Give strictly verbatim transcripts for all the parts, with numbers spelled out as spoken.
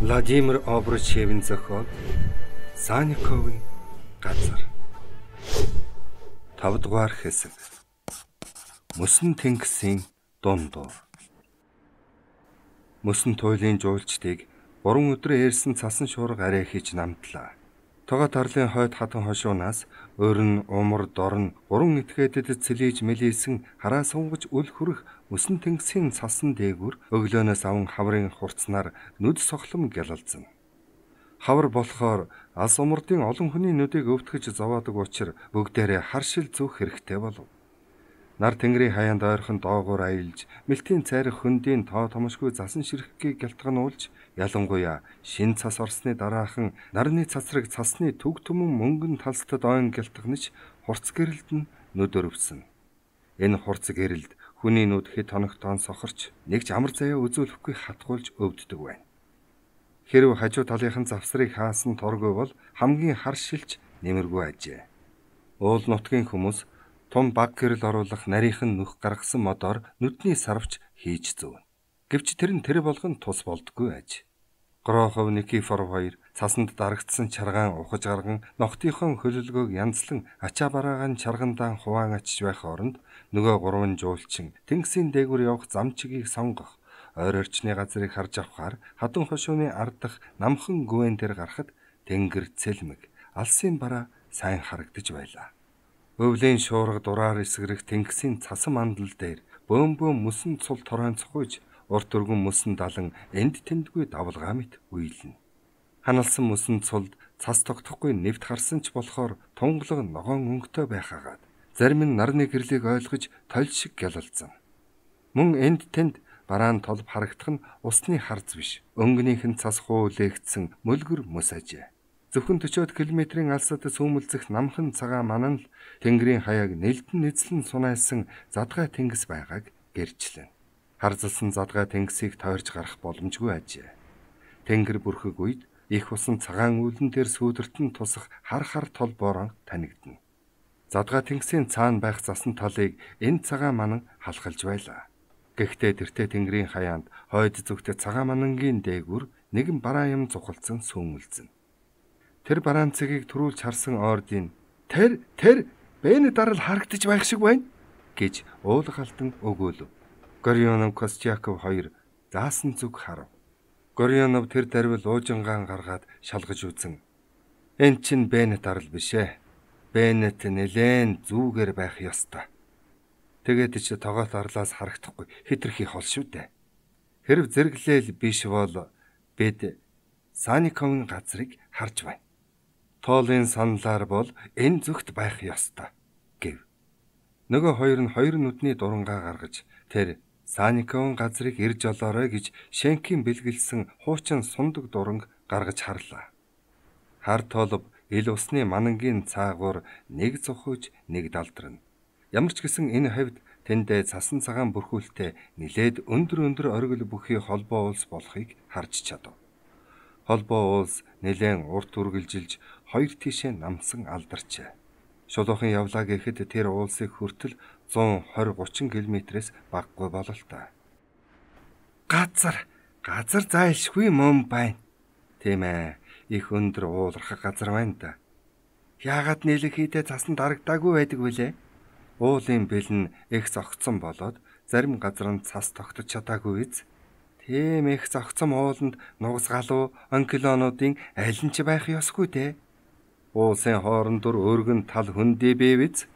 Владимир Обручевийн зохиол Санниковын газар. тавдугаар хэсэг. Мөсөн тэнгисийн дундуур. Мөсөн туйлын жуулчдыг гурван өдөр ээрсэн цасан шуурга арай хийж намтлаа. Тога тарлын хойд хатан хошуунаас өрн умар дорн гурван этгээдэд цэлийж мэлийсэн хараа сунгаж үл хүрэх мөсөн тэнгисийн цасан дээгүр өглөөнөөс аван хаврын хурцнаар нүд сохлом гялалзсан. Хавар болохоор алс умардын олон хүний нүдийг өвтгөж зовоодог учраас бүгдээрээ харшил зүүх хэрэгтэй болов. Нар тэнгэрийн хаяанд ойрхон доогуур аялж, мэлтийн цайрах хөндийн тоо томшгүй засан ширхгийг гялтгануулж, ялангуяа шин цас орсны дараахан нарны цацраг цасны төг түмэн мөнгөн талстад ойн гялтганаж хурц гэрэлд нь нүд өрөвсөн. Энэ хурц гэрэлд хүний нүд хэд хоногтон сохорч нэг ч амар заяа үзүүлэхгүй хатгуулж өвддөг байна. Хэрв хажуу талынхан завсрыг хаасан торгүй бол хамгийн хар шилж нэмэргүй ажээ. Уул нутгийн хүмүүс том баг гэрэл оруулах нарийнхан нүх гаргасан модоор нүдний сарвч хийж зүүн. Гэвч тэр нь тэр болгон тус болдгүй аж. Грохов Никифоров хоёр цасанд дарагдсан чаргаан ухаж гарган ногтынхон хөлөлгөөг янзлан ачаа бараагаан чаргандаан хуваан ачиж байх оронд нөгөө гурван жуулчин тэнгисийн дээгүүр явах замчгийг сонгох ойр орчны газрыг харж авахаар хатан хошууны ардах намхан гүвэн дээр гарахад тэнгэр цэлмэг алсын бараа сайн харагдаж байлаа. Өвлийн шуурга дураар эсгэрэх тэнгисийн цасан мандал дээр бөөм бөөм мөсөн цул торойнцохуйж урт өргөн мөсөн далан энд тэндгүй давлгаа мэт уйлна. Ханалсан мөсөн цулд цас тогтохгүй нэвт харсан ч болохоор тунгалаг ногоон өнгөтэй байхаагаад зарим нь нарны гэрлийг ойлгож толь шиг гялалзсан. Мөн энд тэнд бараан толб харагдах нь усны харц биш, өнгөнийхэн цас хуулээгдсэн мөлгөр мөс ажээ. Зөвхөн forty километрийн алсад сүүмэлзэх намхан цагаан манан л тэнгэрийн хаяаг нэлдэн нэзлэн сунайсан задгай тэнгис байгааг гэрчлэн. Харзалсан задгай тэнгисийг тойрч гарах боломжгүй ажээ. Тэнгэр бүрхэг үед их усан цагаан үүлэн дээр сүүдэртэн тусах хар хар тол боорон танигдана. Задгай тэнгисийн цаана байх засан талыг энэ цагаан манан халахалж байлаа. Гэхдээ тэртээ тэнгэрийн хаяанд хойд зүгт цагаан манангийн дээгүр нэгэн бараан юм зухалцсан сүүмэлзэн. Тэр бараан цэгийг төрүүлж харсан ордын тэр тэр бэне дарал харагдаж байх шиг байна гэж уулгалдан өгөөлөв. Горионов Костяков хоёр заасан зүг харав. Горионов тэр дарвил уужингаан гаргаад шалгаж үзэн. Энд чинь бэне дарал биш ээ. Бэнет нэлээн зүүгээр байх ёстой. Тэгээд ч тоогоот арлаас харагдахгүй хитрхи хол шүү дээ. Хэрв зэрэглээл биш бол бид Санниковын газрыг харж байна. Тоолын саналаар бол энэ зүгт байх ёстой гэв. Нөгөө хоёр нь хоёр нүдний дурангаа гаргаж тэр Санниковын газрыг ирж олоорой гэж Шенкийн бэлгэлсэн хуучин сундаг дуранг гаргаж харлаа. Хар тоолов ил усны манангийн цаагуур нэг зухуж нэг далдрна. Ямар ч гэсэн энэ хавьд тэндээ цасан цагаан бүрхүүлтэй нилээд өндөр өндөр оргил бүхий холбоо улс болохыг харж чадав. Холбоо улс нэлээд урт үргэлжилж хоёр тишээ намсан алдарчээ. Шулуухан явлаа гэхэд тэр уулсыг хүртэл one twenty thirty км-с баггүй бололтой. Газар, газар зайлшгүй мөн байна. Тийм ээ, их өндөр уулархах газар байна да. Яагаад нийлэх хийдэ цасан дарагдаагүй байдаг вүлээ? Уулын бэлэн их зогцсон болоод зарим газар нь цас тогтож чадаагүй биз? Тийм их зогцсон ууланд нугас галуу онкилонуудын аль нь ч байх ёсгүй те. Уулсын хооронд дур өргөн тал хөндий бий биз?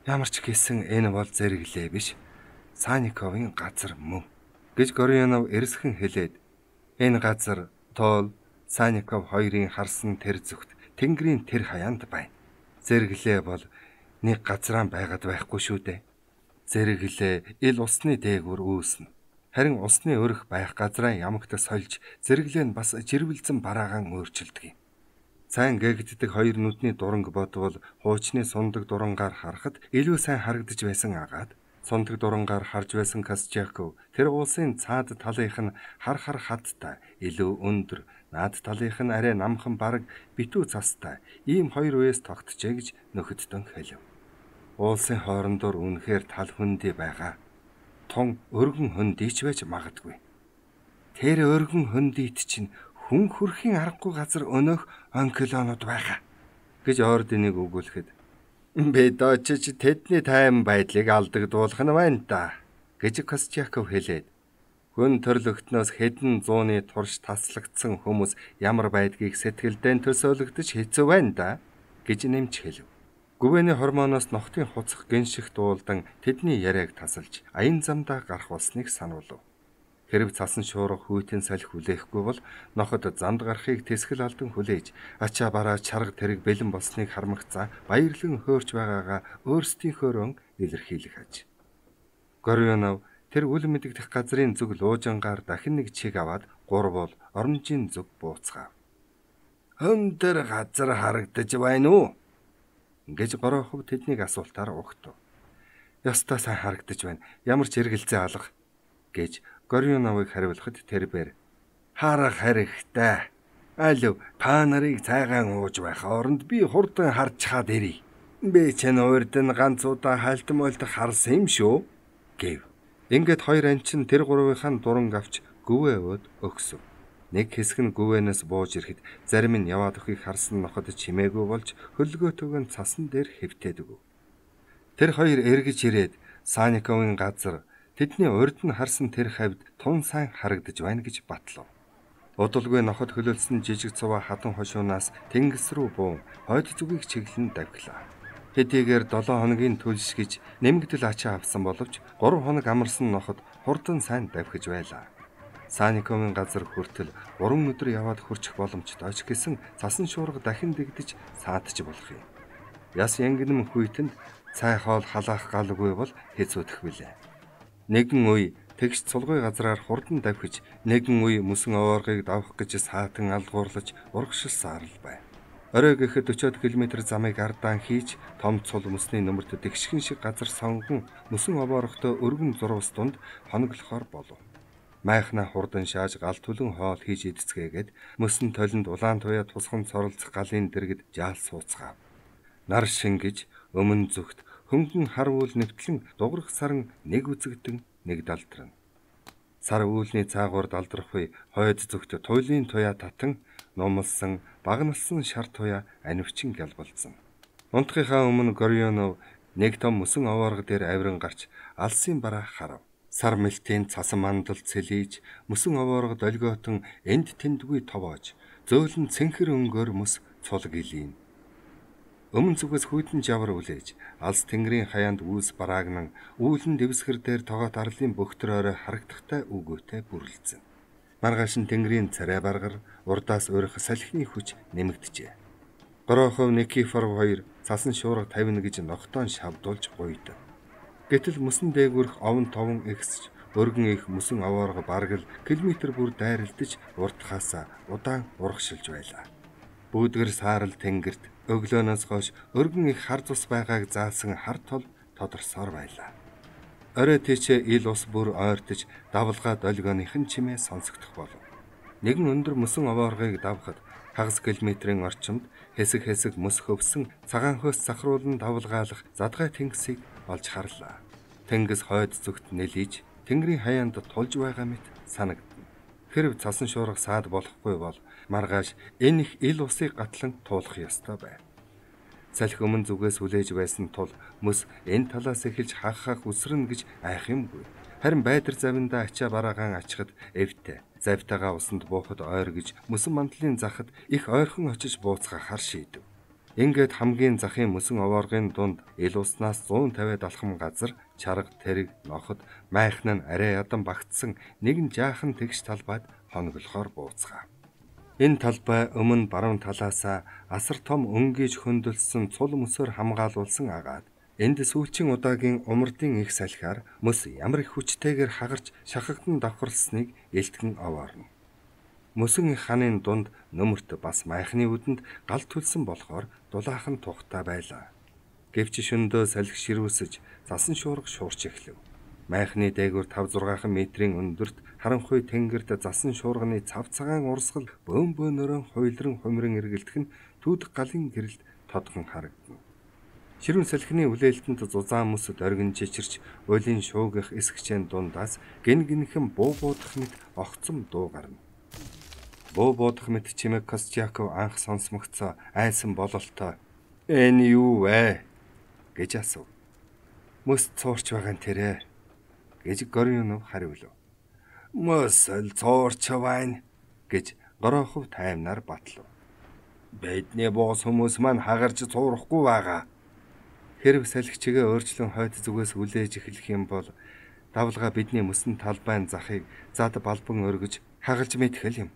Ямар ч гэсэн энэ бол зэрэглээ биш. Санниковын газар мөн гэж Горионов эрсхэн хэлээд энэ газар тоол Санников хоёрын харсан тэр зүгт тэнгэрийн тэр хаяанд байна. Зэрэглээ бол нэг газраан байгаад байхгүй шүү дээ. Зэрэглээ ил усны дээгүр үүснэ. Харин усны өрх байх газраа ямагт сольж зэрэглээ нь бас жирвэлзэн бараагаан өөрчилдөг юм. Сайн гээгддэг хоёр нүдний дуранг бодвол хуучны сундаг дурангаар харахад илүү сайн харагдаж байсан агаад сундаг дурангаар харж байсан Костяков тэр уулсын цаад талынх нь хар хар хаттай илүү өндөр, наад талынх нь арай намхан бараг битүү цастай ийм хоёр үеэс тогтжээ гэж нөхөддөн хэлв. Уулсын хоорондоор үнэхээр тал хөндөй байгаа. Тун өргөн хөндийч байж магадгүй. Тэр өргөн хөндийт чинь хүн хүрхийн аргагүй газар өнөөх он килонод байхаа гэж орденыг өгүүлэхэд "Бидочч тэдний тайван байдлыг алдагдуулах нь байна да" гэж Костяков хэлээд хүн төрлөختнөөс хэдэн зууны турш таслагдсан хүмүүс ямар байдгийг сэтгэлдээ төсөөлөгдөж хэцүү байна да гэж нэмж хэлв. Гүвэний хормоноос нохтын хуцах гинших дуулдан тэдний яриаг тасалж аян замдаа гарах болсныг сануулв. Хэрв цасан шуурга хүйтэн салхи хүлээхгүй бол ноход замд гарахыг тэсгэл алдан хүлээж ачаа бараа чарга тэрэг бэлэн болсныг хармагцаа баярлан хөөрч байгаагаа өөрсдийнхөөрөө илэрхийлэх аж. Горионов тэр үл мэдэгдэх газрын зүг луужангаар дахин нэг чиг аваад гурвал оромжийн зүг бууцгаав. "Өндөр газар харагдаж байна уу?" гэж Горохов тэднийг асуултаар угтав. "Ястаа сайн харагдаж байна. Ямар ч эргэлзээ алга" гэж Горионовыг хариулахад тэрбээр "Харах хэрэгтэй. Алив та нарыг цайгаан ууж байх оронд би хурдан харж чаад ирье. Би чинь урд нь ганц удаа хальтан мөлтөх харсан юм шүү" гэв. Ингээд хоёр анчин тэр гурвынхаа дуран авч гүвээ өөд өгсөв. Нэг хэсэг нь гүвэнээс бууж ирэхэд зарим нь яваад өхийг харсан ноход чимээгүй болж хөлгөөтөг нь цасан дээр хэвтээд өг. Тэр хоёр эргэж ирээд Саниковын газар тэдний урд нь харсан тэр хавьд тун сайн харагдаж байна гэж батлав. Удалгүй ноход хөлөлсөн жижиг цуваа хатан хошуунаас тэнгис рүү буун хойд зүгийг чиглэн давхилаа. Хэдийгээр долоо хоногийн төлс гэж нэмэгдэл ачаа авсан боловч гурав хоног амарсан ноход хурдан сайн давхиж байлаа. Саниковын газар хүртэл гурван өдөр яваад хүрчих боломжтой ч гэсэн цасан шуурга дахин дэгдэж саадч болох юм. Яс янгинэм хүйтэнд цай хоол халаах галгүй бол хэцүүдэх билээ. Нэгэн үе тэгш цулгуй газраар хурдан давхиж, нэгэн үе мөсөн овооргыг давах гэж саатан алгуурлаж урагшилсан арал байв. Орой гэхэд өчөөд километр замыг ардаан хийж том цул мөсний нөмөрт тэгшхэн шиг газар сонгон мөсөн овоорогтой өргөн зурвас дунд хоноглохоор болов. Майхна хурдан шааж гал түлэн хоол хийж идцгээгээд мөсөн толинд улаан туяа тусган цоролцох галын дэргэд жаал сууцгаав. Нар шингэж өмнө зүгт хөнгөн хар үйл нэвтлэн дуграх саран нэг үзэгдэн нэг далдрна. Сар үүлний цаагуур далдрах үе хойд зүгт туйлын туяа татан нумалсан багналсан шар туяа анивчин гэлбэлцэн. Унтхийнхаа өмнө Горионов нэг том мөсөн овоорго дээр авиран гарч алсын бараа харав. Сар мэлтийн цасан мандал цэлийж мөсөн овоорго долгиотон энд тэндгүй товоож зөөлөн цэнхэр өнгөөр мөс цул гэлийн. Өмнө зүгээс хүйтэн жавар үлээж алс тэнгэрийн хаяанд үүс бараагнан үүлэн дэвсгэр дээр тоогоот арлын бөхтөрөөрөө харагдахтай үгөөтэй бүрлэлцэн. Маргааш нь тэнгэрийн царай баргар урдаас өрөх салхины хүч нэмэгдэжээ. Горохов Никифоров хоёр цасан шуурга тавина гэж ногтоон шавдуулж гуйд. Гэтэл мөсөн дээгүрх овон товон ихсэж өргөн их мөсөн овоорго бараг л километр бүр дайралтаж уртхаасаа удаан урагшилж байлаа. Бүүдгэр саарал тэнгэрт өглөөнөөс хойш өргөн их хар цус байгааг заасан хар тол тодорсоор байлаа. Орой тийчээ ил ус бүр ойртож давлгаа долгионыхын чимээ сонсогдох болов. Нэгэн өндөр мөсөн овооргыг давхад хагас километрийн орчимд хэсэг хэсэг мөс хөвсөн цагаан хөөс сахруулан давлгаалах задгай тэнгисийг олж харлаа. Тэнгис хойд зүгт нэлийж тэнгэрийн хаяанд тулж байгаа мэт санагдана. Хэрв цасан шуурга саад болохгүй бол маргааш энэ их ил усыг гатлан туулах ёстой байв. Салхи өмнө зүгээс хүлээж байсан тул мөс энэ талаас эхэлж хагахах үсрэн гэж айх юмгүй. Харин байдар завиндаа ачаа бараагаан ачхад эвтэй. Завтайгаа усанд буухад ойр гэж мөсөн мандлын захад их ойрхон очиж бууцгаахаар шийдэв. Ингээд хамгийн захын мөсөн овооргын дунд ил уснаас зуун тавиад алхам газар чарга тэрэг ноход майхан нь арай ядан багтсан нэгэн жаахан тэгш талбайд хоноглохоор бууцгаав. Энэ талбай өмнө баруун талаасаа асар том өнгөж хөндлөсөн цул мөсөөр хамгаалуулсан агаад энд сүүлчийн удаагийн умардын их салхиар мөс ямар их хүчтэйгээр хагарч шахагдан давхарлсныг элтгэн овоорно. Мөсөн их ханын дунд нөмөрт бас майхны үдэнд гал төлсөн болохоор дулаахан тухтай байлаа. Гэвч шөндөө салхи ширүүсэж цасан шуурга шуурч эхлэв. Майхны дээгүүр тавь зургаахан метрийн өндөрт харанхуй тэнгэрт засан шуурганы цав цагаан урсгал бөөн бөөнөрөө хуйлран хумрын эргэлтэх нь түүдэг галын гэрэлд тодхон харагдана. Ширүүн салхины үлээлтэнд зузаан мөс дөргин чичирч уйлын шуугих эсгчэн дундаас гин гинхэн буу буудах мэт огцом дуу гарна. Буу буудах мэт чимээг Костяков анх сонсмогцоо айсан бололтой "Энэ юу вэ?" гэж асуув. "Мөс цуурч байгаа нь тэрэ" гэж Горюнов хариулв. "Мөс л цуурч байна" гэж Горохов таймнаар батлав. "Бидний боос хүмүүс маань хагарч цуурахгүй байгаа." Хэрв салхичгээ өөрчлөн хойд зүгээс үлээж эхлэх юм бол давлгаа бидний мөсөн талбайн захыг зад балбан өргөж хагалж мэдхэл юм.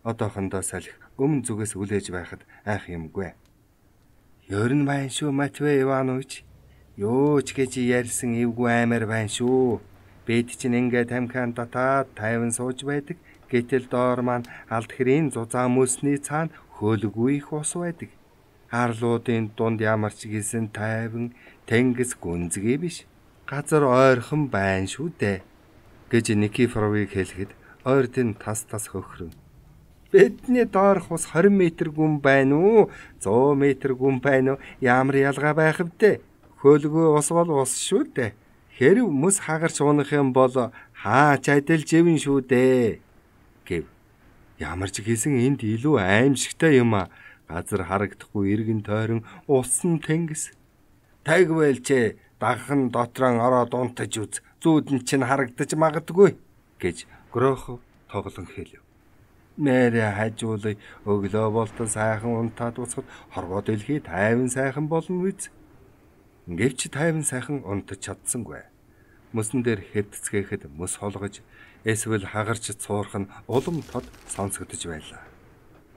Одоохондоо салхи өмнө зүгээс үлээж байхад айх юмгүй. "Ер нь байна шүү Матвей Иванович. Юу ч гэж ярьсан эвгүй аймаар байна шүү. Бид чинь ингээд тамхиан татаад тайван сууж байдаг. Гэтэл доор маань алд хэрийн зузаан мөсний цаана хөлгүй их ус байдаг. Арлуудын дунд ямар ч гисэн тайван тэнгис гүнзгий биш. Газар ойрхон байна шүү дээ" гэж Никифоровыг хэлэхэд ойртын тас тас хөхрөн. "Бидний доорх ус двадцать метр гүн байна уу? сто метр гүн байна уу? Ямар ялгаа байх вдэ? Хөлгүй ус бол ус шүү дээ. Хэрв мөс хагарч унах юм бол хаач адил живэн шүү дээ" гэв. Ямар ч гэсэн энд илүү аимшигтай юм а. Газар харагдахгүй эргэн тойрон усан тэнгис. "Тагвэлчээ дагхан дотроо ороод унтаж үз. Зүүдэн чинь харагдаж магадгүй" гэж Горохов тоглон хэлв. "Мэрэ хажуулай өглөө болтол сайхан унтаад уцахад хорвоо дэлхий тайван сайхан болно биз?" Гэвч тайван сайхан унтаж чадсангүй. Мөсөн дээр хэвтцгээхэд мөс холгож эсвэл хагарч цуурх нь улам тод сонсогдож байлаа.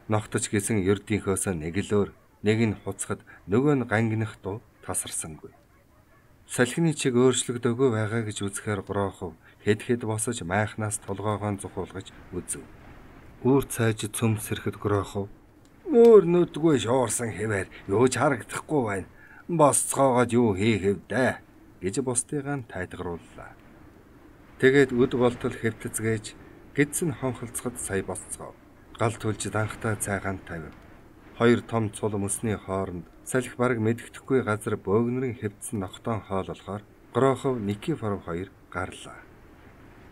Ногтож гисэн ердийнхөөс нэг л өөр, нэг нь хуцахад нөгөө нь гангинах дуу тасарсангүй. Салхины чиг өөрчлөгдөөгүй байгаа гэж үзэхээр Горохов хэд хэд босож майхнаас толгоогоо зухуулгаж үзв. Үүр цайж цөмсөрөхөд Горохов "Өөр нүдгүй шуурсан хэвээр юу ч харагдахгүй байна. Босцоогоод юу хийх вэ?" гэж бусдыгаа тайтгарууллаа. Тэгээд үд болтол хэвтцгээж гидсэн хонхолцоход сая босцгоо. Гал түлж данхтай цайгаан тавив. Хоёр том цул мөсний хооронд салхи бараг мэддэхгүй газар бөөгнөрийн хэвдсэн ногтоон хоололохоор Горохов Никифоров хоёр гарлаа.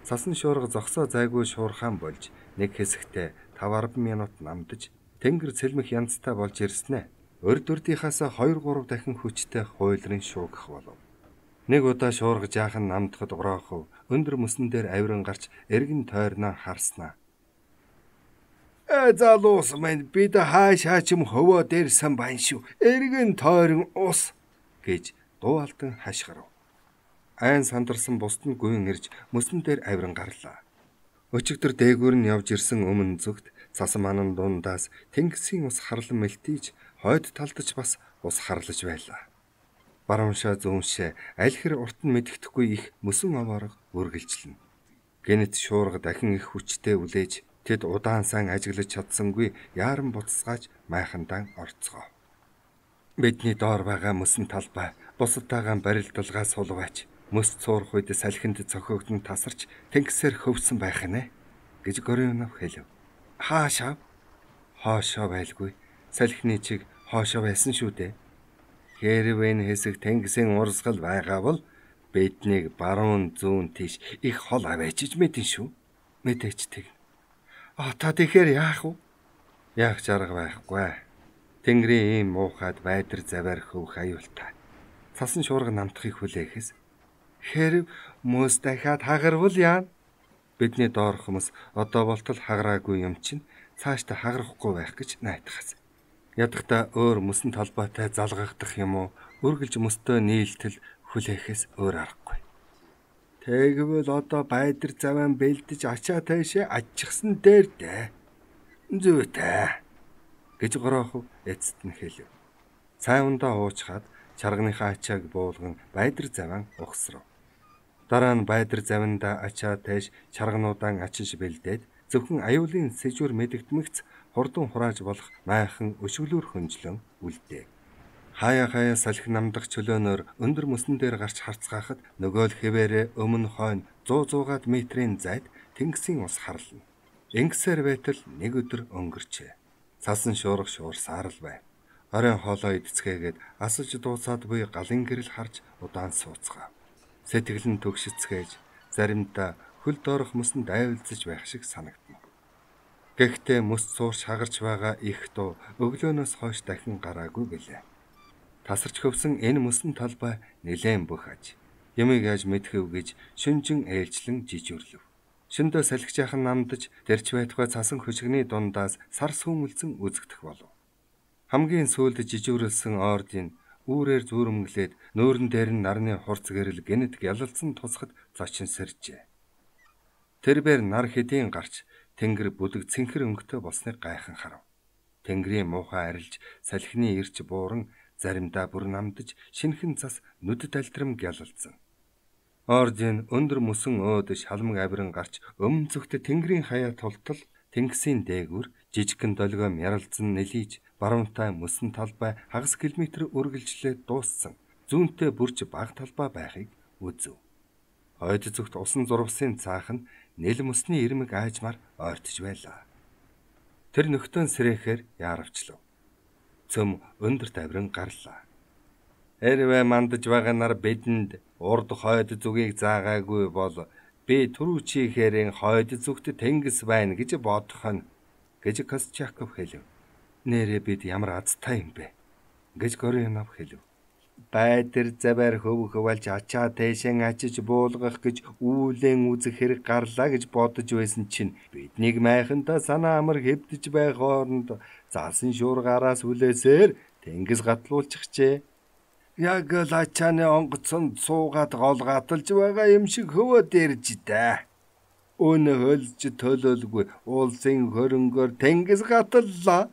Цасан шуурга зогсоо зайгүй шуурхаан болж нэг хэсэгтээ таван арван минут намдаж тэнгэр цэлмэх янзтай болж ирснэ. Урд урдийнхаас хоёр гурав дахин хүчтэй хуйлрын шуугах болов. Нэг удаа шуурга жаахан намдахад Горохов өндөр мөсөн дээр авиран гарч эргэн тойрноо харснаа. "Э залуус минь бид хааш хаачим хөвөө дээрсэн байна шүү. Эргэн тойрон ус" гэж дуу алдан хашгирав. Айн сандарсан бусд нь гүйн ирж мөсөн дээр авиран гарлаа. Өчигдөр дээгүүр нь явж ирсэн өмнө зүгт цасан манан дундаас тэнгисийн ус харлан мэлтийж хойд талдаж бас ус харлаж байлаа. Барууншаа зүүншээ аль хэр урт нь мэддэхгүй их мөсөн овоорго үргэлжлэнэ. Гэнэт шуурга дахин их хүчтэй үлээж тэд удаан сан ажиглаж чадсангүй яаран буцсгааж майхандан орцгоо. Бидний доор байгаа мөсөн талбай бусадтайгаа барилдалгаа сулваач мөс цуурх үед салхинд цохиогдсон тасарч тэнгисээр хөвсөн байх нэ гэж Горюнов хэлв. "Хаашаа?" "Хоошоо байлгүй. Салхины чиг хоошоо байсан шүү дээ. Хэрв энэ хэсэг тэнгисийн урсгал байгаа бол биднийг баруун зүүн тийш их хол аваачиж мэдэн шүү." "Мэдээч тэг." "Ата тэгэхээр яах вэ?" "Яах ч арга байхгүй. Тэнгэрийн ийм муухайд байдар заваар хөвөх аюултай. Цасан шуурга намтахыг хүлээхээс хэрв мөс дахиад хагарвал яана? Бидний доорх хүмүүс одоо болтол хагараагүй юм чинь цаашдаа хагарахгүй байх гэж найдахаас. Ядахта өөр мөсөн талбайтай залгагдах юм уу? Үргэлж мөстөө нийлтэл хүлээхээс өөр аргагүй. Тэгвэл одоо байдар заван бэлдэж ачаа таашаа аччихсан дээр дээ." "Зүйтэй" гэж Горохов эцэст нь хэлв. Цайвандаа уучхаад чарганыхаа ачааг буулган байдар заван ухсрав. Дараа нь байдар завандаа ачаа тааш чаргануудаан ачиж бэлдээд зөвхөн аюулын сэжүр мэдэгдмэгц хурдан хурааж болох майхан өшөглөөр хөнжлөн үлдээ. Хаяа хаяа салхи намдах чөлөөнөөр өндөр мөсөн дээр гарч харцгаахад нөгөө л хэвээрээ өмнө хойно сто суугаад метрийн зайд тэнгисийн ус харлана. Ингэсээр байтал нэг өдөр өнгөрчээ. Цасан шуурга шуурсаар л байв. Оройн хоолоо идцгээгээд асаж дууцаад буй галын гэрэл харж удаан сууцгаав. Сэтгэл нь төгшицгээж заримдаа хөл доорох мөсөнд дайвалзаж байх шиг санагдана. Гэхдээ мөс суурч хагарч байгаа их дуу өглөөнөөс хойш дахин гараагүй гэлээ. Тасарч хөвсөн энэ мөсөн талбай нэлээд бүх аж. Ямиг яаж мэдхэв гэж шүнжин ээлжлэн жижүүрлэв. Шөндөө салхижаахан намдаж тэрч байтугай цасан хөшгөний дундаас сар сүмэлзэн үзэгдэх болов. Хамгийн сүүлд жижүүрлсэн ордын үүрээр зүүрмглээд нөөрн дээр нь нарны хурц гэрэл гэнэт гялалцсан тусахад зочин сэржээ. Тэрбээр нар хэдийн гарч тэнгэр бүдэг цэнхэр өнгөтэй болсныг гайхан харав. Тэнгэрийн муухай арилж салхины ирч бууран заримдаа бүр намдаж шинхэн цас нүдэд альтрам гялалцсан. Ордын өндөр мөсөн өөдөж халмаг авиран гарч өмнө зүгт тэнгэрийн хаяа тултал тэнгисийн дээгүр жижигхэн долгио мяралзан нэлийж баруунтай мөсөн талбай хагас километр үргэлжлээд дууссан зүүнтэй бүрж баг талбай байхыг үзв. Хойд зүгт усан зурвасын цаах нь нэл мөсний ирмэг аажмаар ойртож байлаа. Тэр нөхтөн сэрэхээр яаравчлав. Цөм өндөр тавиран гарлаа. Хэрвээ мандаж байгаа нар бидэнд урд хойд зүгийг заагаагүй бол би түрүү чихээрэн хойд зүгт тэнгис байна гэж бодох нь гэж Костчаков хэлв. Нэрээ бид ямар азтай юм бэ гэж Горионов хэлв. Байдэр завар хөв хөвалж ачаа тэшэн ачиж буулгах гэж үүлэн үзэх хэрэг гарлаа гэж бодож байсан чинь биднийг майхандаа санаа амар хэвдэж байх хооронд заасан шуургаараас үлээсээр тэнгис гатлуулчихжээ. Яг л ачааны онгоцонд суугаад гол гаталж байгаа юм шиг хөвөд ирж дээ. Өнө хөлж төлөөлгүй уулсын хөрөнгөөр тэнгис гаталлаа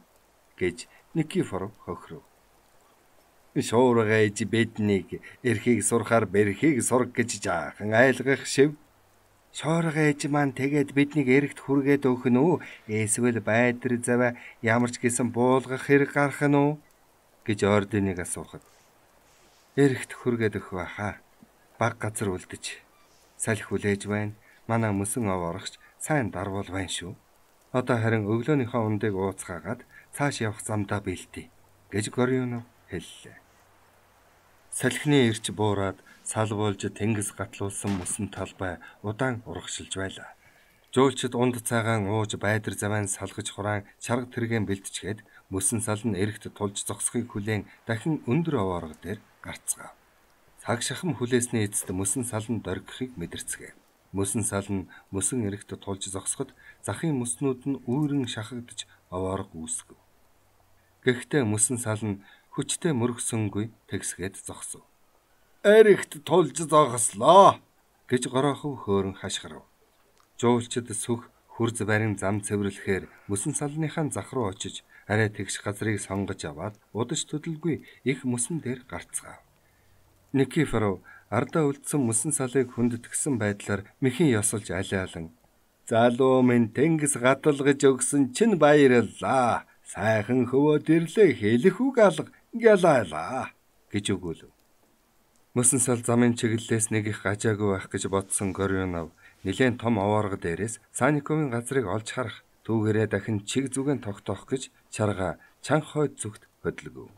гэж Никифоров хохиров. Шуурга ээж биднийг эрхийг сурахаар бэрхийг сурах гэж жаахан айлгах шив. Шуурга ээж маань тэгээд биднийг эрэгт хүргээд өгөх нь үү? Эсвэл байдэр заваа ямарч гэсэн буулгах хэрэг гарах нь үү? гэж ордыныг асуухад эрэгт хүргээд өгөх байхаа. Баг газар үлдэж салхи хүлээж байна. Манай мөсөн овоорогч сайн дарвал байна шүү. Одоо харин өглөөнийхөө ундыг ууцгаагаад цааш явах замдаа бэлтий гэж Горионов хэллээ. Салхины ирч буураад салбуулж тэнгис гатлуулсан мөсөн талбай удаан урагшилж байлаа. Жуулчид унд цагаан ууж байдэр завайн салгаж хураан чарга тэргэн бэлтчихэд мөсөн сал нь эрэгт тулж зогсохыг хүлээн дахин өндөр овоорго дээр гарцгаав. Цаг шахам хүлээсний эцэст мөсөн сал нь доргихыг мэдэрцгээв. Мөсөн сал нь мөсөн эрэгт тулж зогсоход захын мөснүүд нь үүрэн шахагдж овоорго үүсгэв. Гэхдээ мөсөн сал нь хүчтэй мөргсөнгүй тэгсгээд зогсов. Эрэгт тулж зогслоо гэж Горохов хөөрөн хашгирав. Жуулчид сүх хурз барин зам цэвэрлэхээр мөсөн салныхаа зах руу очиж арай тэгш газрыг сонгож аваад удаж төдөлгүй их мөсөн дээр гарцгаав. Никифоров ардаа үлдсэн мөсөн салыг хүндэтгсэн байдлаар мэхийн ёсолж алиалан залуу минь тэнгис гаталгаж өгсөн чинь баярлаа. Сайхан хөвөөд ирлээ хэлэх үг алга гялайлаа гэж өгөөлөв. Мөсөн сал замын чиглэлээс нэг их гажаагүй байх гэж бодсон Горионов нэлээд том овоорго дээрээс Санниковын газрыг олж харах түүгээрээ дахин чиг зүгэн тогтоох гэж чарга чанх хойд зүгт хөдөлгөв.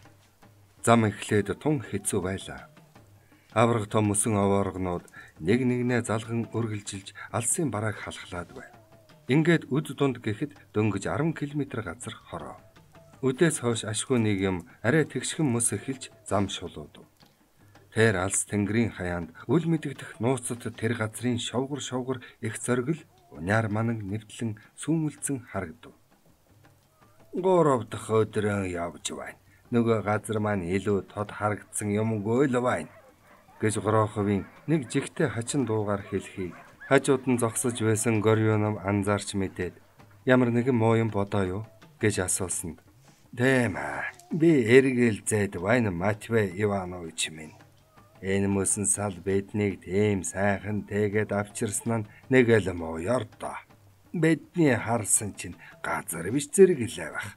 Зам эхлээд тун хэцүү байлаа. Авраг том мөсөн овооргонууд нэг нэгнээ залган үргэлжилж алсын барааг халахлаад байв. Ингээд үд дунд гэхэд дөнгөж арван километр газар хороо. Үдээс хойш ашгүй нэг юм арай тэгшхэн мөс эхэлж зам шулуудав. Тэр алс тэнгэрийн хаяанд үл мэдэгдэх нууцад тэр газрын шовгор шовгор их зоргил уняар мананг нэвтлэн сүмэлцэн харагдав. Гурав дахь өдрөө явж байна. Нөгөө газар маань илүү тод харагдсан юмгүй л байна гэж Гороховын нэг жигтэй хачин дуугаар хэлхийг хажууд нь зогсож байсан Горионов анзаарч мэдээд ямар нэгэн муу юм бодоо юу гэж асуусанд тийм аа би эргэлзээд байна Матвей Иванович минь. Энэ мөсөн сал биднийг тийм сайхан тэгээд авчирсан нь нэг л муу ёрдоо. Бидний харсан чинь газар биш зэрэглээ байх.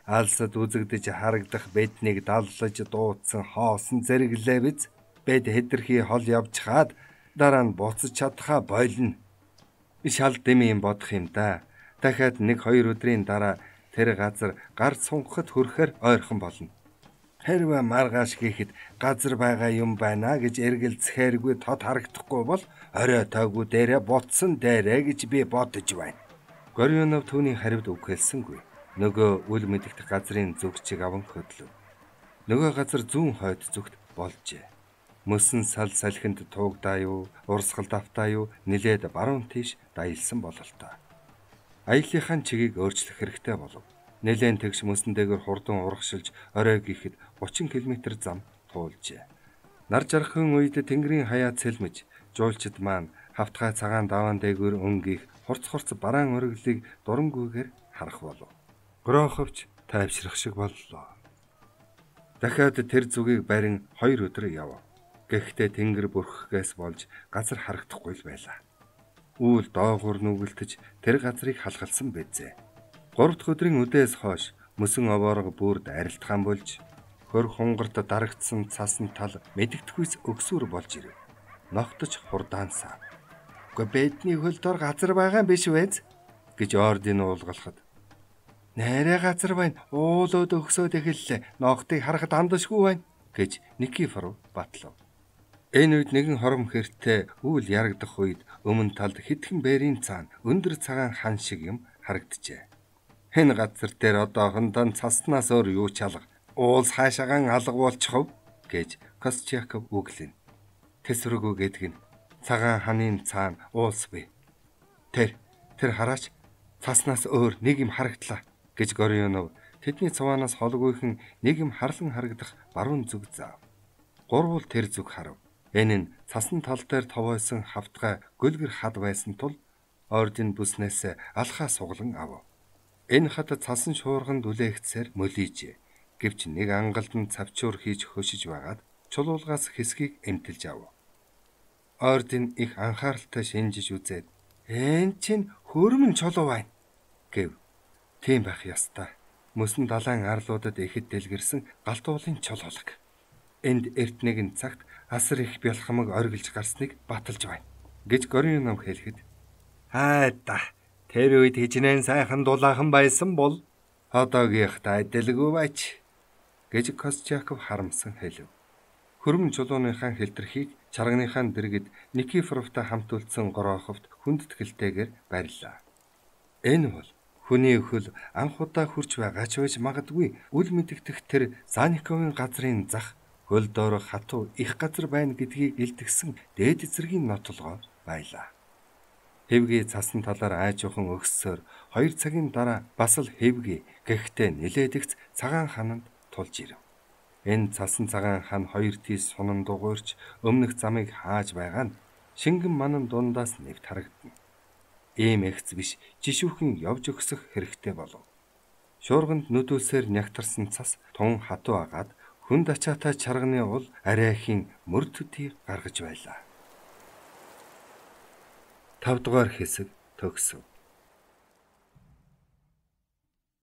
Алсад үзэгдэж харагдах биднийг даллаж дуудсан хоосон зэрэглээ биз? Бид хэтэрхий хол явж хаад дараа нь буцаж чадхаа болно. Шал дэми юм бодох юм да. Дахиад нэг хоёр өдрийн дараа тэр газар гар сунгахад хүрэхээр ойрхон болно. Хэрвээ маргааш хийхэд газар байгаа юм байна гэж эргэлзэхээргүй тод харагдахгүй бол орой тойгоо дээрээ бутсан дээрээ гэж би бодож байна. Горионов түүний хариуд үг хэлсэнгүй. Нөгөө үл мэдэгдэх газрын зүгчийг аван хөдлөв. Нөгөө газар зүүн хойд зүгт болжээ. Мөсөн сал салхинд туугдаа юу, урсгал давтаа юу нилээд баруун тийш даялсан бололтой. Аяллахын чигийг өөрчлөх хэрэгтэй болов. Нилээн тэгш мөсөн дээгэр хурдан урагшилж орой гихэд гучин км зам туулжээ. Нар жаргахын үед тэнгэрийн хаяа цэлмэж, жуулчид маань хавтгай цагаан даваан дээгүүр өнгөх хурц хурц бараан өргөлийг дурангүйгээр харах болов. Гороховч тайвшрах шиг боллоо. Дахиад тэр зүгийг барин хоёр өдөр яв. Гэхдээ тэнгэр бүрхгээс болж газар харагдахгүй л байлаа. Үүл доогуур нүгэлтэж тэр газрыг халгалсан байзээ. Гурав дахь өдрийн үдээс хойш мөсөн овоорго бүрд арилтгаан болж хөр хунгарт дарагдсан цасан тал мэдэгдэхүйс өгсүр болж ирэв. Ногтож хурдаансаа. Гэхдээ бидний хөл дор газар байгаа биш вэ? Гэж ордын уулгалахад. Нээрээ газар байна. Уулууд өгсөөд эхэллээ. Ногтыг харахад андашгүй байна гэж Никифоров батлав. Энэ үед нэгэн хором хэртэй үйл ярагдах үед өмнө талд хитгэн бээрийн цаана өндөр цагаан хан шиг юм харагджээ. Энэ газар дээр одоохондоо цаснаас өөр юу ч алга. Уулс хаашаагаан алга болчихов гэж Костчаков үглэн. Тэсвэргүй гэдг нь цагаан ханын цаана уулс бий. Тэр тэр хараач цаснаас өөр нэг юм харагдлаа гэж Горионов тэдний цаваанаас холгүйхэн нэг юм харлан харагдах баруун зүг заав. Гурвал тэр зүг харав. Энэ нь цасан тал дээр товойсон хавтгай гөлгөр хад байсан тул ордын бүснээс алхаа суглан ав. Энэ хад цасан шуурганд үлээгцээр мөлийжээ. Гэвч нэг ангалдан цавчуур хийж хөшиж байгаад чулуулгаас хэсгийг эмтэлж ав. Ордын их анхааралтай шинжиж үзээд "Энэ чинь хөрмөн чулуу байна" гэв. Тийм байх ёстой. Мөсөн далайн арлуудад ихэд дэлгэрсэн галт уулын чулуулга. Энд эрт нэгэн цагт асар их бялхамаг оргилж гарсныг баталж байна гэж Горионов хэлэхэд "Хайда. Тэр үед хижнээн сайхан дулаахан байсан бол одоогийнхтай адилгүй байж" гэж Костчаков харамсан хэлв. Хөрмөн чулууныхаа хэлтэрхийг чарганыхаа дэргэд Никифоровтай хамт үлдсэн Гороховт хүндэтгэлтэйгээр барьлаа. Энэ бол хүний өхөл анх удаа хурж байгаа ч байж магадгүй үл мэдэгдэх тэр Санниковын газрын зах хөл доор хатуу их газар байна гэдгийг илтгэсэн дээд эзэргийн нотлогоо байлаа. Хэвгийн цасан талаар айжуухан өгсөөр хоёр цагийн дараа бас л хэвгий гэхдээ нилээдэгц цагаан хананд тулж ирэв. Энэ цасан цагаан хан хоёр тийш сунан дугуйрч өмнөх замыг хааж байгаа нь шингэн манан дундаас нэвт харагдана. Ийм эгц биш жишүүхэн явж өгсөх хэрэгтэй болов. Шуурганд нүдүүлсээр нягтарсан цас тун хатуу агаад хүнд ачаатай чарганы ул арайхийн мөр төдий гаргаж байлаа. Тав дугаар хэсэг төгсөв.